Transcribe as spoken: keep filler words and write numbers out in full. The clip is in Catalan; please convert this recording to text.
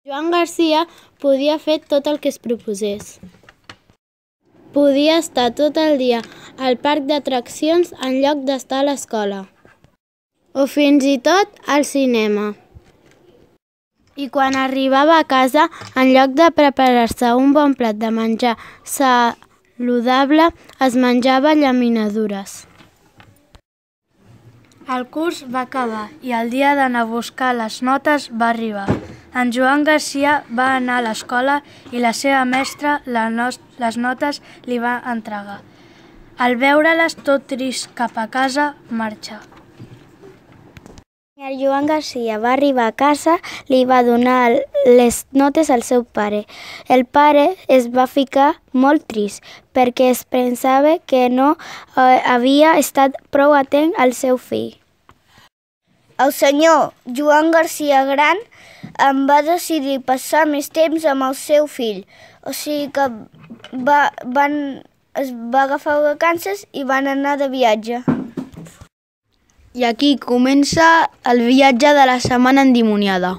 Joan Garcia podia fer tot el que es proposés. Podia estar tot el dia al parc d'atraccions en lloc d'estar a l'escola. O fins i tot al cinema. I quan arribava a casa, en lloc de preparar-se un bon plat de menjar saludable, es menjava llaminadures. El curs va acabar i el dia d'anar a buscar les notes va arribar. En Joan Garcia va anar a l'escola i la seva mestra les notes li va entregar. Al veure-les tot trist cap a casa, marxà. El Joan Garcia va arribar a casa, li va donar les notes al seu pare. El pare es va ficar molt trist perquè es pensava que no eh, havia estat prou atent al seu fill. El senyor Joan Garcia Gran em va decidir passar més temps amb el seu fill, o sigui que va, van, es va agafar vacances i van anar de viatge. I aquí comença el viatge de la setmana endimoniada.